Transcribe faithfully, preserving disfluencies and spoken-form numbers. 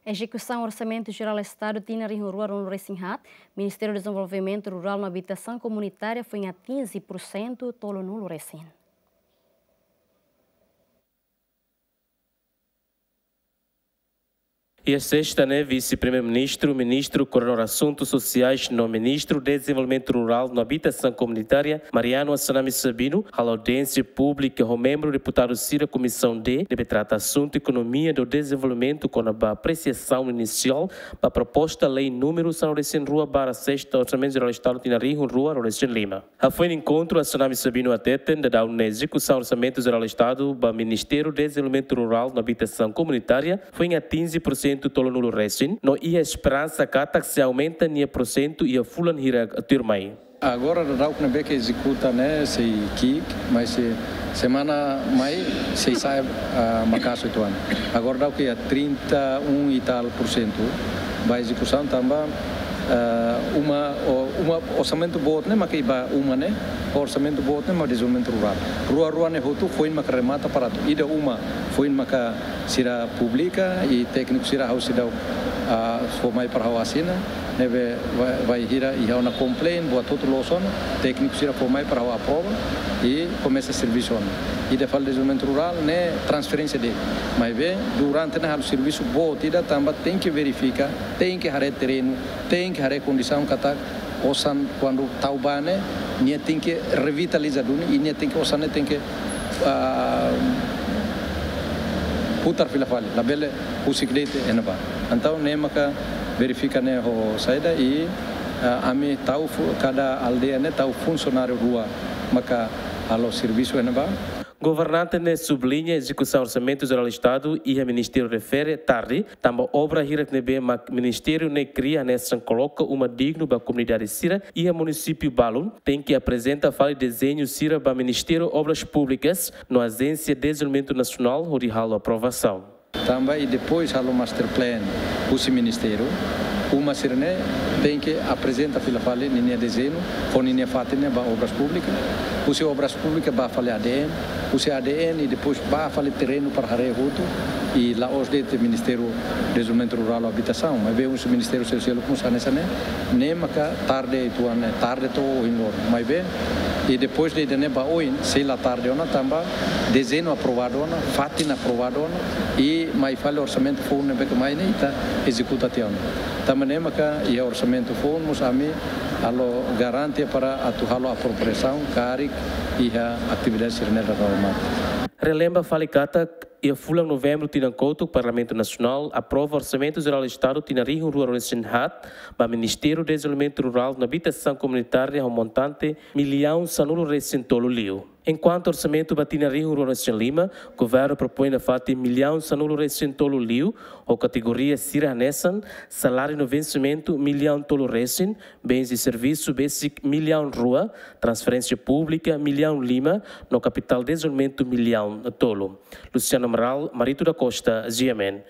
Ezekusaun Orsamentu Jerál Estadu tinan rihun rua ruanulu resin haat, Ministériu Dezenvolvimentu Rurál no Abitasaun Komunitária foin atinje pursentu tolunulu resin. Iha sesta ne'e, Vise-Primeiru-Ministru, Ministru Koordinadór Asuntus Sosiais no Ministru Dezenvolvimentu Rurál no Abitasaun Komunitária, Mariano Assanami Sabino, halo audiénsia públika ho membru deputadu sira Komisaun D, ne'ebé trata asuntu ekonomia no dezenvolvimentu kona-ba apresiasaun inisiál ba proposta lei númeru sanulu resin rua barra sesta Orsamentu Jerál Estadu tinan rihun rua ruanulu resin lima. Hafoin enkontru, Assanami Sabino hateten, daudaun ne'e ezekusaun Orsamentu Jerál Estadu ba Ministériu Dezenvolvimentu Rurál no Abitasaun Komunitária foin atinje pursentu tolunulu resin, no iha esperansa katak sei aumenta nia pursentu iha fulan hirak tuirmai. Agora daudaun ne'ebé ke ezekuta ne'e sei ki'ik, mas sei semana mai sei sa'e, ah, makasu uitoan. Agora daudaun ke iha trinta e um e tal por cento ba ezekusaun tanba, ah, uma, o, uma orsamentu boot ne'e mak iha ba uma ne'e, orsamentu boot ne'e mak dezenvolvimentu rurál. Rua-rua ne'e hotu foin maka remata para atu. Ida uma foin maka sira publika i tékniku sira ha'u seidauk, ah, fó mai para ha'u asina. Ne'ebé ba, bainhira iha ona complain, buat hotu loos ona, tékniku sira fó mai para ha'u aprova i komesa servisu ona. Ida fali dezenvolvimentu rurál ne'e transferénsia de'it. Maibé durante ne'e halo servisu boot ida tanba tenke verifika, tenke haree terrenu, tenke haree kondisaun katak osan kuandu tau ba ne'e, nia tenke revitaliza duni, i nia tenke, osan ne'e tenke, ah, putar fila fali, labele husik de'it iha ne'ebá. Entaun ne'e maka verifika ne'e ho saida i, ah, ami tau fu-, kada aldeia ne'e tau funsionáriu rua maka halo servisu iha ne'ebá. Governante ne'e subliña ezekusaun Orsamentu Jerál Estadu iha ministériu refere tarde, tanba obra hirak ne'ebé mak ministériu ne'e kria hanesan koloka uma dignu ba komunidade sira iha munisípiu balun, tenke aprezenta fali dezeñu sira ba Ministériu Obras Públikas no Ajénsia Dezenvolvimentu Nasionál hodi halo aprovasaun. Tanba i depois halo master plan husi ministériu, uma sira-ne'e tenke aprezenta fila fali ninia dezeñu, fó ninia fatin ne'e ba Obras Públikas, husi Obras Públikas bá fali A D N, husi A D N i depois bá fali terrenu para haree hotu, i la'ós de'it Ministériu Dezenvolvimentu Rurál no Abitasaun, maibé husi Ministériu Sosiál, komu hanesan ne'e, ne'e maka tarde uitoan, ne'e tarde to'o ohin loron. Maibé, i depois de ida-ne'e ba oin, sei la tarde ona tanba dezeñu aprovadu ona, fatin aprovadu ona, i mai fali orsamentu foun ne'ebé ke mai ne'e ita ezekuta tiha ona. Tanba ne'e maka iha orsamentu foun mós ami halo garante para atu halo apropriasaun karik iha atividade sira-ne'e dala remata. Relembra fali katak, iha fulan Novembru tinan kotuk, Parlamentu Nasionál aprova Orsamentu Jerál Estadu tinan rihun rua ruanulu resin haat ba Ministériu Dezenvolvimentu Rurál no Abitasaun Komunitária ho montante millaun sanulu resin tolu liu. Enkuantu orsamentu ba tinan rihun rua ruanulu resin lima, governu propoin nafatin millaun sanulu resin tolu liu, ho kategoria sira hanesan saláriu no vensimentu millaun tolu resin, bens e servisu besik millaun rua, transferénsia públika millaun lima, no kapitál dezenvolvimentu millaun tolu. Luciano Amaral, Marito da Costa, G M N.